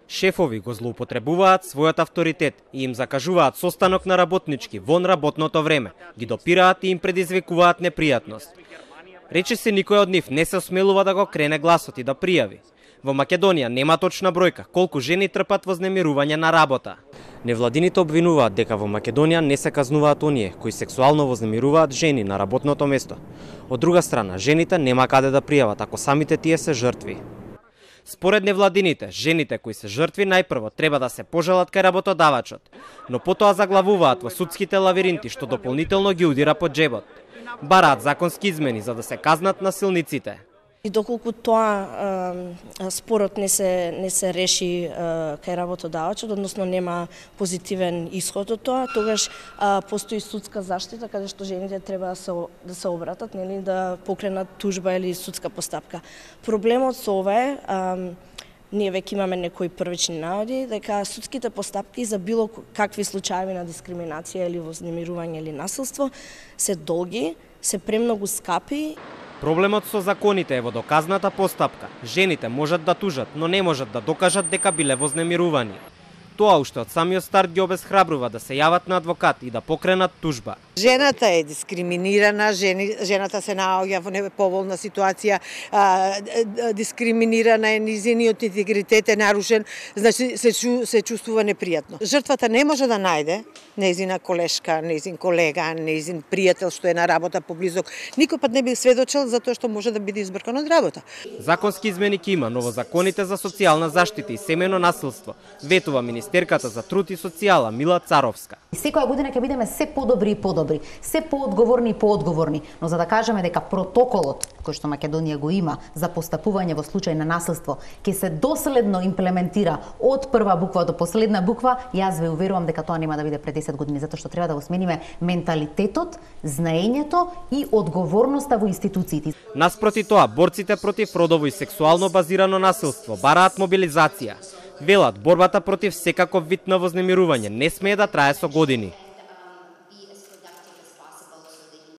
Шефови го злоупотребуваат својот авторитет и им закажуваат состанок на работнички вон работното време, ги допираат и им предизвикуваат непријатност. Рече се никој од нив не се осмелува да го крене гласот и да пријави. Во Македонија нема точна бројка колку жени трпат вознемирување на работа. Невладините обвинуваат дека во Македонија не се казнуваат оние кои сексуално вознемируваат жени на работното место. Од друга страна, жените нема каде да пријават ако самите тие се жртви. Според невладините, жените кои се жртви најпрво треба да се пожалат кај работодавачот, но потоа заглавуваат во судските лавиринти што дополнително ги удира по џебот. Бараат законски измени за да се казнат насилниците. И доколку тоа спорот не се реши кај работодавачот, односно нема позитивен исход од тоа, тогаш постои судска заштита каде што жените треба да се обратат, нели, да покренат тужба или судска постапка. Проблемот со ова е, ние веќе имаме некои првични наводи дека судските постапки за било какви случаи на дискриминација или вознемирување или насилство се долги, се премногу скапи. Проблемот со законите е во доказната постапка. Жените можат да тужат, но не можат да докажат дека биле вознемирувани. Тоа уште од самиот старт ги обесхрабрува да се јават на адвокат и да покренат тужба. Жената е дискриминирана, жената се наоѓа во неповолна ситуација, дискриминирана е, низиниот интегритет е нарушен, значи се чувствува непријатно. Жртвата не може да најде нејзина колешка, нејзин колега, нејзин пријател што е на работа поблизок. Никој пат не би сведочел за тоа што може да биде избркан од работа. Законски измени ќе има, но во законите за социјална заштита и семејно насилство ветува Министерката за труд и социјала Мила Царовска. Секоја година ќе бидеме се подобри и подобри, се поодговорни и поодговорни, но за да кажеме дека протоколот кој што Македонија го има за постапување во случај на насилство ќе се доследно имплементира од прва буква до последна буква, јас ве уверувам дека тоа нема да биде пред 10 години, затоа што треба да го смениме менталитетот, знаењето и одговорноста во институциите. Наспроти тоа, борците против родово и сексуално базирано насилство бараат мобилизација. Велат, борбата против секаков вид на вознемирување не смее да трае со години.